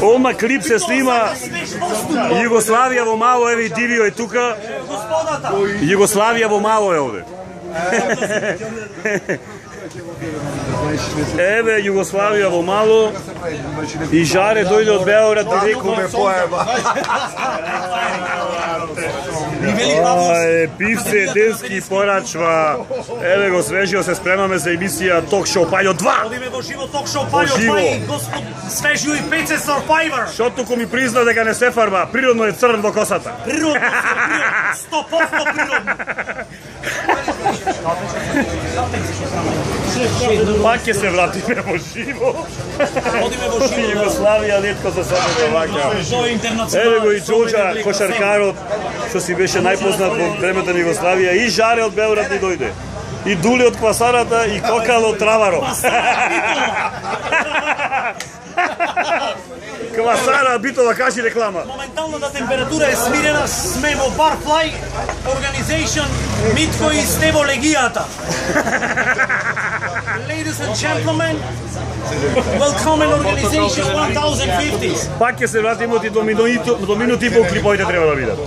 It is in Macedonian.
Ома клип се снима Југославија во мало, еве и Дивио е тука. Југославија во мало е овде. Еве Југославија во мало и Жаре дојде од Београд директно ме поеба. Пивце денски порачва. Еве го свежио, се спремаме за емисија Ток Шоу Пајо 2. Одиме во живо Ток Шоу Пајо 2 и господ Свежио и Пеце Survivor. Што туку ми призна дека не се фарба, природно е црн во косата. Природно, 100% природно. Пак ќе се вратиме во живо. Одиме во живо. Југославија летко за себе вака. Еве го и Џоџа, кошаркарот, што си беше најпознат во времето на Југославија, и Жаре од Београд ни дојде. И Дули од Квасарата и Кокал од Travaro. Квасара, Битова, кажи реклама. Моменталната температура е смирена, сме во Barfly Organization, Митко и сте во легијата. Ladies and gentlemen, welcome in Organization 1050. Пак ќе се вратиме до минути и пол клиповите треба да видат.